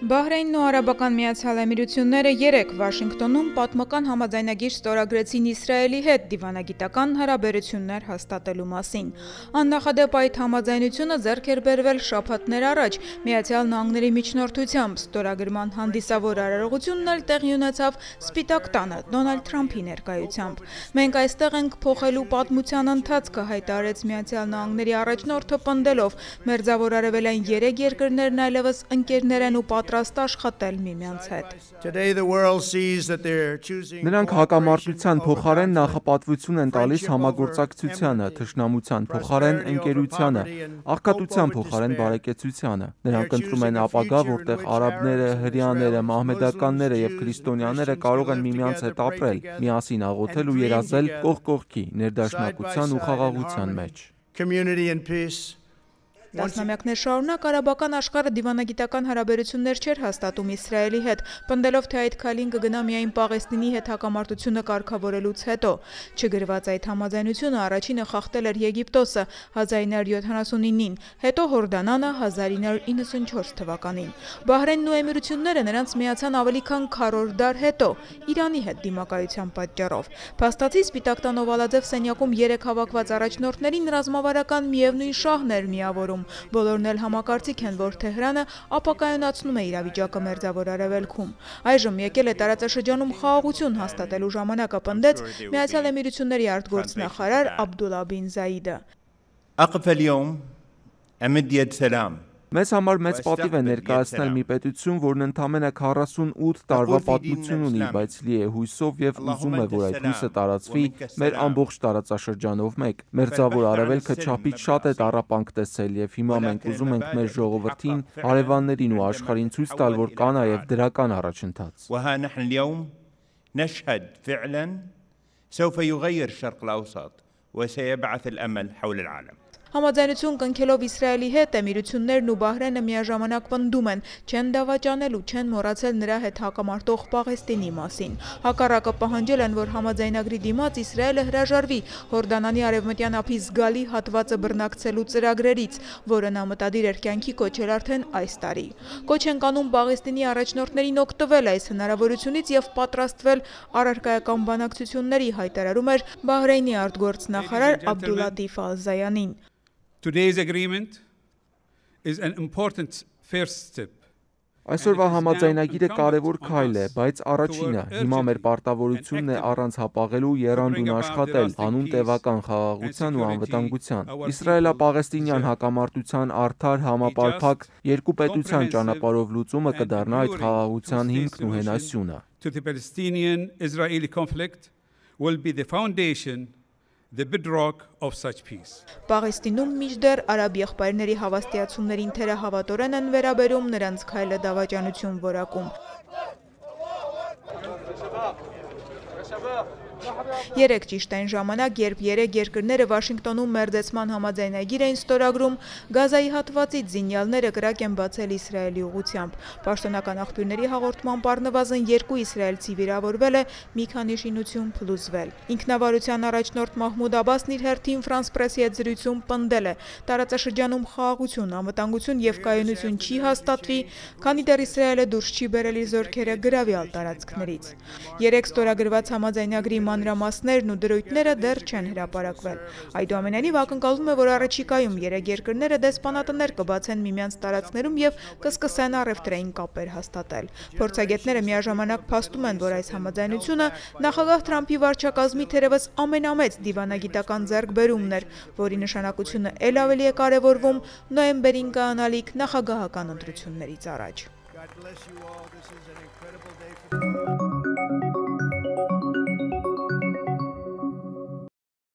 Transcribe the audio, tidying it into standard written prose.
Բահրեյնն ու Արաբական Միացյալ Էմիրությունները երեկ Վաշինգտոնում պատմական համաձայնագիր ստորագրեցին Իսրայելի հետ դիվանագիտական հարաբերություններ հաստատելու մասին։ Աննախադեպ այդ համաձայնությունը ձեռք էր բերվել շաբաթներ առաջ Միացյալ Նահանգների միջնորդությամբ։ Ստորագրման հանդիսավոր արարողությունն էլ տեղի ունեցավ Սպիտակ տանը Դոնալդ Թրամփի ներկայությամբ։ Մենք այստեղ ենք փոխելու պատմության ընթացքը, հայտարարեց Միացյալ Նահանգների առաջնորդը պնդելով, մերձավոր արևելային 3 երկրներն այլևս ընկերներ են ու պատրաստ աշխատել միմյանց հետ։ Նրանք հակամարտության փոխարեն նախապատվություն են տալիս համագործակցությանը, թշնամության փոխարեն ընկերությանը, աղքատության փոխարեն բարեկեցությանը։ Նրանք ընտրում են ապագա, որտեղ արաբները, հրեաները, մահմեդականները եւ քրիստոնյաները կարող են միմյանց հետ ապրել, միասին աղոթել ու երազել կողք կողքի, ներդաշնակության ու խաղաղության մեջ։ Տասնամյակներ շարունակ արաբական աշխարհը դիվանագիտական հարաբերություններ չէր հաստատում Իսրայելի հետ, պնդելով, թե այդ քայլին կգնա միայն Պաղեստինի հետ հակամարտությունը կարգավորելուց հետո։ Չգրված այդ համաձայնությունը առաջինը խախտել էր Եգիպտոսը 1979-ին, հետո Հորդանանը 1994 թվականին։ Բահրեյնն ու Էմիրությունները նրանց միացան ավելի քան քառորդ դար հետո, Իրանի հետ դիմակայության պատճառով։ Փաստացի Սպիտակ տան օվալաձև սենյակում 3 հավաքված առաջնորդներին ռազմավարական միևնույն շահն էր միավորում։ Բոլորն էլ համակարծիք են, որ Թեհրանը ապակայունացնում է իրավիճակը Մերձավոր Արևելքում։ Այժմ եկել է տարածաշրջանում խաղաղություն հաստատելու ժամանակը, պնդեց Միացյալ Էմիրությունների արտգործնախարար Աբդուլլա բին Զայիդը։ Մեզ համար մեծ պատիվ է ներկայացնել մի պետություն, որն ընդամենը 48 տարվա պատմություն ունի, բայց լի է հույսով եւ ուզում է, որ այդ հույսը տարածվի մեր ամբողջ տարածաշրջանով մեկ։ Մերձավոր Արևելքը չափից շատ է տառապանք տեսել եւ հիմա մենք ուզում ենք մեր ժողովրդին, հարևաններին ու աշխարհին ցույց տալ, որ կա նաեւ դրական առաջընթաց։ Համաձայնություն կնքելով Իսրայելի հետ Էմիրություններն ու Բահրեյնը միաժամանակ պնդում են, չեն դավաճանել ու չեն մոռացել նրա հետ հակամարտող Պաղեստինի մասին։ Հակառակը պահանջել են, որ համաձայնագրի դիմաց Իսրայելը հրաժարվի Հորդանանի արևմտյան ափի զգալի հատվածը բռնակցելու ծրագրերից, որը նա մտադիր էր կյանքի կոչել արդեն այս տարի։ Կոչ են կանում Պաղեստինի առաջնորդներին օգտվել այս հնարավորությունից եւ պատրաստվել առարկայական բանակցությունների, հայտարարում էր Բահրեյնի արտգործնախարար Աբդուլլատիֆ Ալ-Զայանին։ Today's agreement is an important first step. Այսօրվա համաձայնագիրը կարևոր քայլ է, բայց առաջինը, հիմա մեր պարտավորությունն է առանց հապաղելու եռանդուն աշխատել հանուն տևական խաղաղության ու անվտանգության։ Իսրայելա-պաղեստինյան հակամարտության արդար, համապարփակ երկու պետության ճանապարհով լուծումը կդառնա այդ խաղաղության հիմքն ու հենասյունը։ To the Palestinian-Israeli conflict will be the foundation, the bedrock of such peace. Պաղեստինում մինչդեռ արաբ եղբայրների հավաստիացումներին թերահավատորեն են վերաբերում, նրանց քայլը դավաճանություն որակում։ Երեք ճիշտ այն ժամանակ, երբ 3 երկրները Վաշինգտոնում մերձեցման համաձայնագիր էին ստորագրում, Գազայի հատվածից զինյալները կրակ են բացել Իսրայելի ուղղությամբ։ Պաշտոնական աղբյուրների հաղորդմամբ առնվազն 2 իսրայելցի վիրավորվել է, մի քանի շինություն փլուզվել։ Ինքնավարության առաջնորդ Մահմուդ Աբասն իր հերթին Ֆրանս Պրեսի հետ զրույցում պնդել է, տարածաշրջանում խաղաղություն, անվտանգություն եւ կայունություն չի հաստատվի, քանի դեռ Իսրայելը դուրս չի բերել իր զորքերը գրավյալ տարածքներից։ Երեք ստորագրված համաձայնագրի մանրամասներն ու դրույթները դեռ չեն հրապարակվել։ Այդուամենայնիվ ակնկալվում է, որ առաջիկայում 3 երկրները դեսպանատներ կբացեն միմյանց տարածքներում եւ կսկսեն առևտրային կապեր հաստատել։ Փորձագետները միաժամանակ փաստում են, որ այս համաձայնությունը նախագահ Թրամփի վարչակազմի թերևս ամենամեծ դիվանագիտական ձեռքբերումն էր, որի նշանակությունը ել ավելի է կարևորվում նոյեմբերին կայանալիք նախագահական ընտրություններից առաջ։